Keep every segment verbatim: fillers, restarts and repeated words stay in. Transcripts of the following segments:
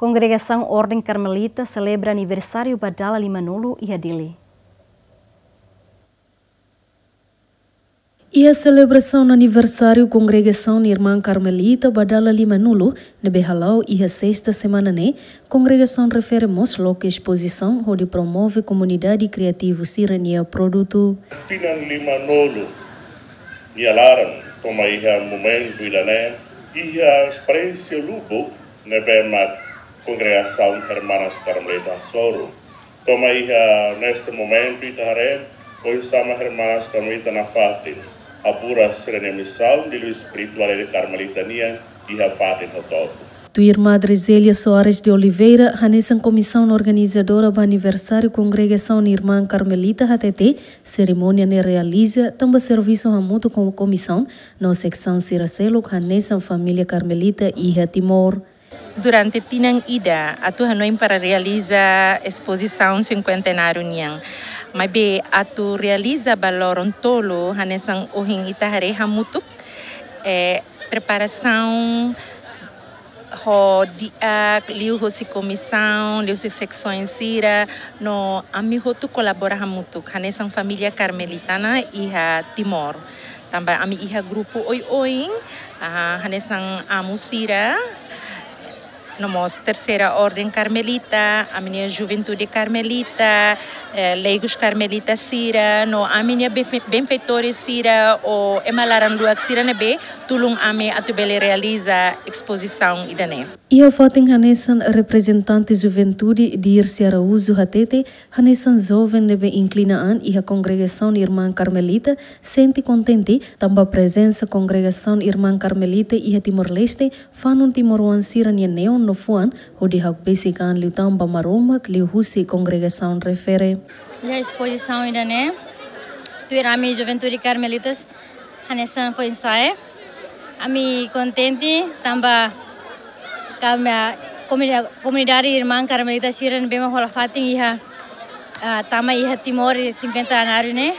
Kongregasaun Orden Karmelita selebra aniversáriu ba dala limanulu iha Dili. Iha selebrasaun aniversáriu Kongregasaun Irmán Karmelita ba dala limanulu, ne'ebé hala'o iha sesta semana ne'e, kongregasaun refere mós loke espozisaun hodi promove komunidade kriativu sira-nia produtu. Tinan limanulu nia laran, to'o mai iha momentu ida-ne'e, iha esperiénsia lubuk ne'ebé mak kongregasaun Hermanas Karmelita hasoru. To'o mai iha neste momentu ita haree oinsá mak Hermanas Karmelita nafatin haburas sira-nia misaun di liu espirituál Karmelita nian iha fatin hotu-hotu. Tuir Madre Zélia Soares de Oliveira, hanesan komisaun organizadora ba aniversáriu Kongregasaun Irmán Karmelita hatete, serimónia ne'e realiza tanba servisu hamutuk ho komisaun no seksaun sira seluk hanesan família Karmelita iha Timor. Durante tinan ida, atu hanoin para realiza espozisaun sinkuentenáriu nian. Maibé atu realiza ba loron tolu, hanesan ohin ita haree hamutuk, eh, preparasaun ho di'ak, liuhusi komisaun, liuhusi seksaun sira, no ami hotu kolabora hamutuk, hanesan família Karmelita nian iha Timor. Tanba ami iha grupu oioin, ah, hanesan amu sira, no mós Terseira Orden Karmelita, ami-nia Juventude Karmelita, eh, Leigus Karmelita sira, no ami-nia benfe-, benfeitores sira, ou ema laran-luak sira ne'ebé tulun ami atu bele realiza espozisaun ida-ne'e. Iha fatin hanesan reprezentante juventude Dirce Araújo hatete, hanesan joven ne'ebé inklina an iha Kongregasaun Irmán Karmelita, sente kontente tanba prezensa Kongregasaun Irmán Karmelita iha Timor-Leste fanun timoroan sira-nia neon no fuan hodi hakbesik an liután ba Maromak liuhusi kongregasaun refere. Iha espozisaun ida-ne'e, tuir ami Juventude Karmelitas, hanesan foin-sa'e, ami kontente tanba kami, komuni-, komunidade Irmán Karmelita sira ne'ebé mak hola fatin iha, ah, tama iha Timor sinkuenta anos ne'e.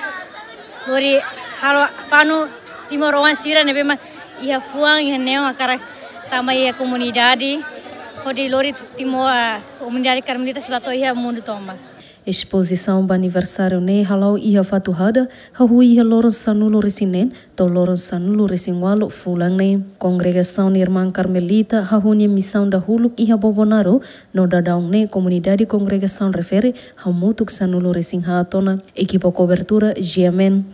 Lori halo fanu timoroan sira ne'ebé mak iha fuan, iha neon hakarak tama iha komunidade. Hodi lori Timor, ah, komunidade Karmelita sira ba to'o iha mundu tomak. Espozisaun ba aniversáriu ne'e hala'o iha Fatuhada, hahú iha loron sanulu-resin-neen to'o loron sanulu-resin-ualu fulan ne'e. Kongregasaun Irmán Karmelita hahú nia misaun dahuluk iha Bobonaro, no daudaun ne'e komunidade kongregasaun refere hamutuk sanulu-resin-haat ona. Ekipa kobertura, G M N.